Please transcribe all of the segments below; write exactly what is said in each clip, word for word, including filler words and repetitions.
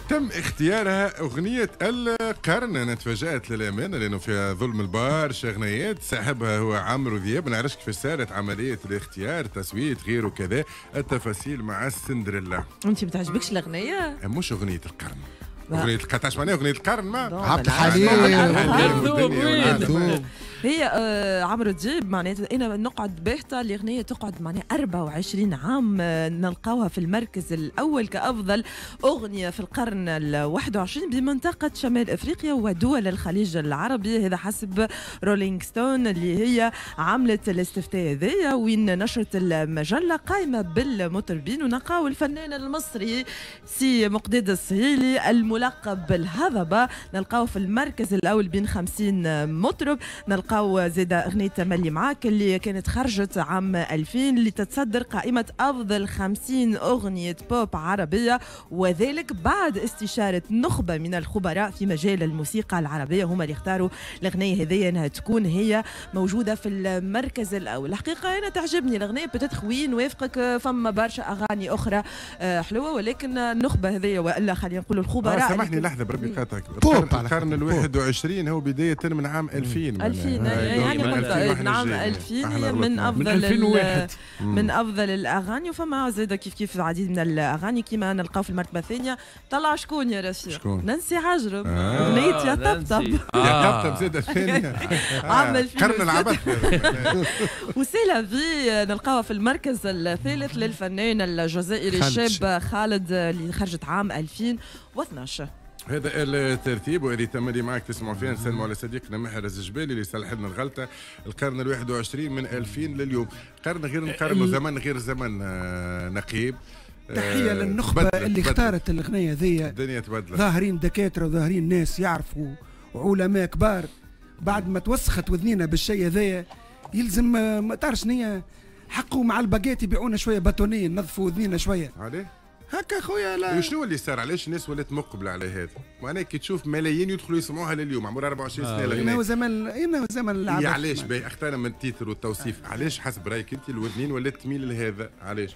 تم اختيارها اغنية القرن. انا تفاجات للامانة لانه فيها ظلم البارشا اغنيات صاحبها هو عمرو ذياب. ما نعرفش كيفاش صارت عملية الاختيار، تصويت غيره كذا، التفاصيل مع السندريلا. انت ما تعجبكش الاغنية؟ مش اغنية القرن. اغنية القرن معناها اغنية القرن ما عبد الحليم. هي آه عمرو دياب معناتها انا نقعد باهته الاغنية تقعد معناها أربعة وعشرين عام آه نلقاوها في المركز الاول كافضل اغنية في القرن الواحد وعشرين بمنطقة شمال افريقيا ودول الخليج العربي، هذا حسب رولينج ستون اللي هي عملت الاستفتاء هذايا وين نشرت المجلة قائمة بالمطربين، ونلقاو الفنان المصري سي مقداد السهيلي الملقب بالهضبه نلقاو في المركز الاول بين خمسين مطرب. نلقاو زيد أغنية تملي معاك اللي كانت خرجت عام ألفين اللي تتصدر قائمة أفضل خمسين أغنية بوب عربية، وذلك بعد استشارة نخبة من الخبراء في مجال الموسيقى العربية، هما اللي اختاروا الأغنية هذه أنها تكون هي موجودة في المركز الأول. الحقيقة أنا تعجبني الأغنية peut-être وين وافقك فما برشا أغاني أخرى حلوة، ولكن النخبة هذه وإلا خلينا نقولوا الخبراء. آه سامحني لحظة بربي قاطعك، القرن الواحد وعشرين هو بداية من عام ألفين. ألفين يعني من عام ألفين من افضل من, من افضل الاغاني. وفما زاد كيف كيف العديد من الاغاني كيما نلقاو في المرتبة الثانية طلع شكون يا رفيق؟ نانسي عجرم، اغنية يا طبطب. يا طبطب زاد الثانية عام قرن العبث. و c'est la vie نلقاوها في المركز الثالث للفنان الجزائري الشاب خالد اللي خرجت عام ألفين واثناش. هذا الترتيب وهذه تملي معك تسمعوا فيها. نسلموا على صديقنا محرز الجبالي اللي صلح لنا الغلطة. القرن الواحد وعشرين من ألفين لليوم، قرن غير نقرن وزمن غير زمن. نقيب تحية للنخبه اللي اختارت الاغنية ذي. الدنيا تبدلت، ظاهرين دكاترة وظاهرين ناس يعرفوا وعلماء كبار. بعد ما توسخت وذنينا بالشيء هذايا يلزم ما تعرفش شنيا حقه مع الباجيت يبيعونا شوية bâtonnets نظفوا وذنينا شوية. عليه هكا خويا. لا شنو اللي صار؟ علاش الناس ولات مقبله على هذا؟ معناها كي تشوف ملايين يدخلوا يسمعوها لليوم عمرها أربعة وعشرين سنة الاغنية. انه زمن انه زمن العبث. علاش باهي اختارنا من ال titre والتوصيف؟ علاش حسب رايك انت الوذنين ولات تميل لهذا؟ علاش؟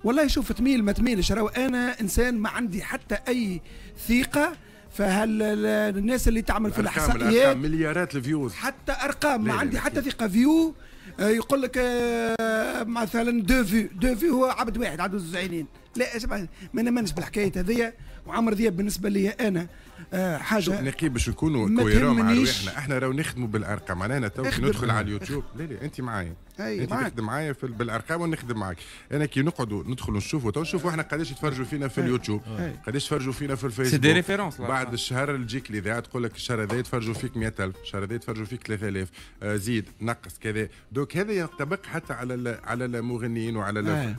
والله شوف تميل ما تميلش، راهو انا انسان ما عندي حتى اي ثقة فهل الناس اللي تعمل في الاحصائيات مليارات ال vues حتى ارقام ما عندي حتى ثقة. view يقول لك مثلا deux vues، deux vues هو عبد واحد عنده زوج عينين. لا ما نمنش بالحكاية هذيا. وعمرو دياب بالنسبة لي انا حاجة نقيب باش نكونوا cohérents مع رواحنا، احنا راهو نخدموا بالارقام. معناها تو كي ندخل على اليوتيوب، لا لا انت معايا، انت تخدم معايا في بالارقام ونخدم معاك انا. كي نقعدوا ندخلوا نشوفوا تو نشوفوا احنا قداش يتفرجوا فينا في اليوتيوب، قداش يتفرجوا فينا في الفيسبوك. c'est des références. بعد الشهر تجيك الاذاعة تقول لك الشهر هذا يتفرجوا فيك مئة ألف، الشهر هذا يتفرجوا فيك ثلاثة آلاف، زيد نقص كذا. donc هذا ينطبق حتى على على المغنيين وعلى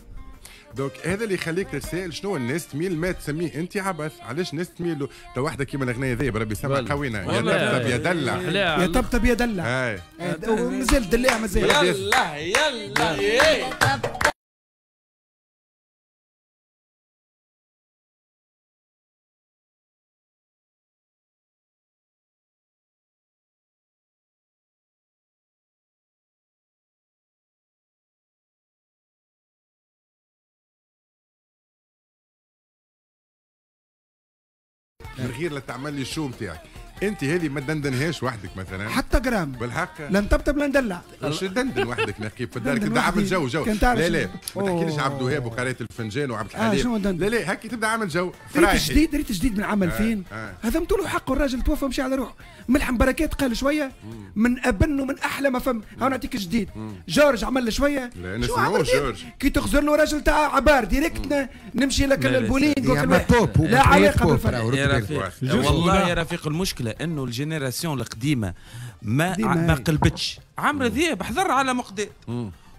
donc هذا اللي يخليك تتساءل شنو الناس تميل ما تسميه انت عبث. علاش الناس تميل له؟ تو واحدة كيما الاغنية ذي بربي سمع قوينا، يا طبطب يا دلع، يا طبطب يا دلع، مازال دلع مازال. يلا يلا من غير لا تعمل لي ال show نتاعك انت هذه ما تدندنهاش وحدك مثلا حتى جرام بالحق، لا نطبطب لا ندلع. مش تدندن وحدك نقيب في الدار تبدا عامل جو جو. لا لا ما تحكيليش عبد الوهاب وقرايه الفنجان وعبد الحليم. آه لا لا هكي تبدا عامل جو. ريت جديد، ريت جديد من عام ألفين. آه. آه. هذا متولو حقه الراجل توفى ومشى على روحه. ملحم بركات قال شوية من ابن ومن احلى ما فم. هاو نعطيك جديد. جورج عمل شوية. لا نسمعوه جورج كي تخزر له راجل تاع عبار direct نمشي لك البولينغ. لا علاقة بالفن. والله يا رفيق المشكلة انه ال génération القديمة ما ما قلبتش. عمرو ذياب حضر على مقداد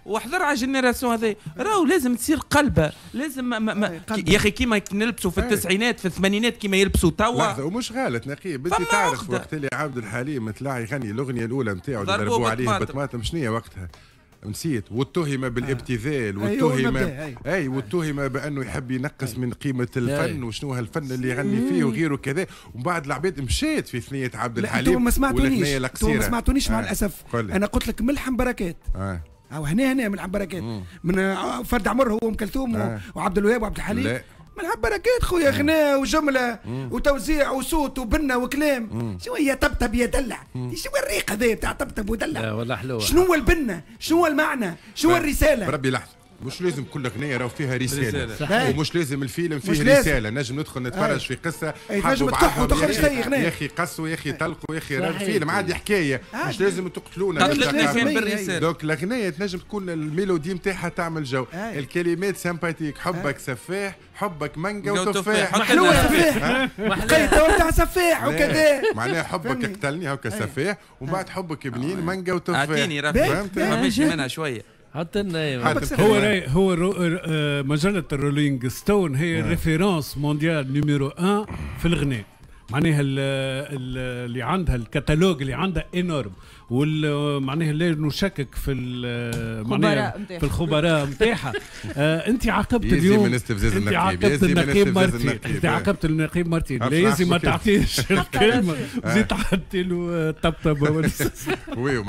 وحضر على ال génération هذا، راهو لازم تصير قلبه، لازم ما ما يا اخي كيما نلبسوا في التسعينات في الثمانينات كيما يلبسوا توا. لحظة ومش غلط نقيب، انت تعرف وقت اللي عبد الحليم طلع يغني الاغنية الاولى نتاعو اللي ضربوا عليه بطماطم شنية وقتها؟ نسيت. واتهم بالابتذال واتهم اي واتهم بانه يحب ينقص من قيمة الفن وشنو هالفن اللي يغني فيه وغيره كذا. ومن بعد العباد مشات في ثنيه عبد الحليم. ما سمعتونيش، ما سمعتونيش مع الاسف. انا قلت لك ملحم بركات. آه. او هنا هنا ملحم بركات من فرد عمر هو ام كلثوم آه. وعبد الوهاب وعبد الحليم. ملعب بركات خويا، غناء وجملة وتوزيع وصوت وبنه وكلام. شنو هي طبطب يا دلع؟ شنو الريق هذا بتاع طبطب ودلع؟ لا والله حلوة. شنو هو البنه؟ شنو هو المعنى؟ شنو هو الرسالة؟ بربي لحظة، مش لازم كل اغنية راهو فيها رسالة. رسالة. ومش لازم الفيلم فيه رسالة، نجم ندخل نتفرج في قصة نجم تكح وتخرج زي اغنية يا اخي قصوا يا اخي طلقوا يا اخي فيلم عادي حكاية، مش لازم تقتلونا donc الاغنية تنجم تكون ال mélodie نتاعها تعمل جو، الكلمات sympathiques، حبك سفاح، حبك مانجا وتفاح، حلوة سفاح قيت تاع سفاح وكذا، معناها حبك قتلني هكا سفاح، ومن بعد حبك بنين مانجا وتفاح. اعطيني رفيق فماشي منها شوية. حتى هو هو مجلة الرولينج ستون هي ال référence mondiale numéro واحد في الغناء، معناها اللي عندها الكتالوج اللي عندها énorme، ومعناها لا نشكك في معناها في الخبراء نتاعها. آه انت عاقبت اليوم، انت عاقبت النقيب مارتين، انت عاقبت النقيب مارتين، لازم ما تعطيش الكلمة، زيد تعطي له طبطبة.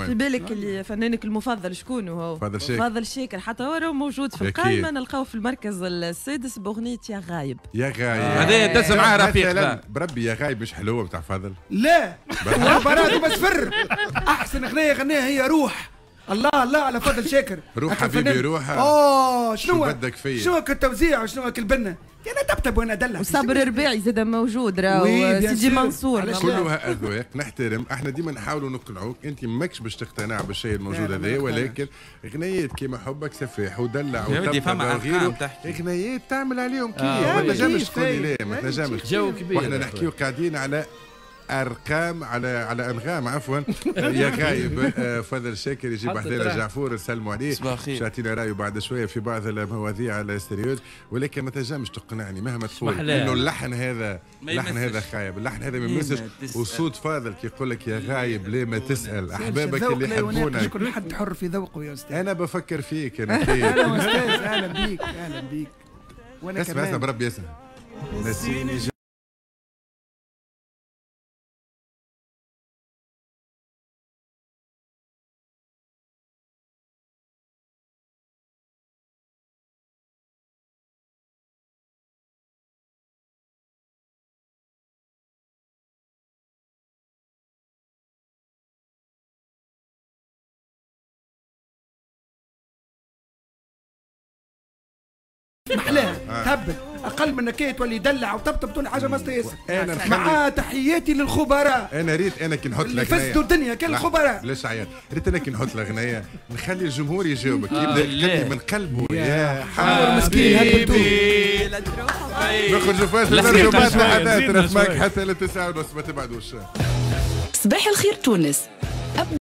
في بالك اللي فنانك المفضل شكون هو؟ فاضل شاكر. فاضل شاكر حتى هو موجود في القائمة، نلقاوه في المركز السادس باغنية يا غايب. يا غايب هذا دز معاه رفيق. بربي يا غايب مش حلوة بتاع فاضل؟ لا براتو بسفر احسن اغنية غناها هي روح. الله الله على فضل شاكر، روح حبيبي روح. اه شنو بدك فيا؟ شنو التوزيع وشنو البنه؟ انا طبطب وانا دلع. وصابر رباعي زاد موجود راهو، سيدي منصور. كلها اذواق نحترم، احنا ديما نحاولوا نقنعوك، انت ماكش باش تقتنع بالشيء الموجود هذا، ولكن اغنيات كيما حبك سفاح ودلع وطبطب وغيره، اغنيات تعمل عليهم كيف، ما تنجمش تقول لي لا، ما تنجمش. جو كبير. واحنا نحكيو قاعدين على ارقام، على على انغام عفوا. يا غايب فضل شاكر يجيب حدانا جعفور، نسلموا عليه يعطينا رايه بعد شوية في بعض المواضيع ال sérieuses، ولكن ما تنجمش تقنعني مهما تقول انه اللحن هذا، اللحن هذا خايب، اللحن هذا ما يمسش. وصوت فاضل كي يقول لك يا غايب ليه ما تسال احبابك اللي يحبونك. كل حد حر في ذوقه يا استاذ. انا بفكر فيك انا. اهلا استاذ، اهلا بيك، اهلا بيك. وانا كمان اسمع اسمع بربي اسمع نسيني. محلاها تهبل، اقل من كي تولي يدلع وطبطب تولي حاجة ما ياسر. مع تحياتي للخبراء. انا ريت انا كي نحط الاغنية فسدوا الدنيا كان الخبراء. ليش عيط؟ ريت انا كي نحط الاغنية نخلي الجمهور يجاوبك، يبدا يغني من قلبه يا حبيبي مسكين هبلتوه. نخرجوا فاصل نرجعوا بعد لحظات، نسمعك حتى للتسعة ونص، ما تبعدوش. صباح الخير تونس.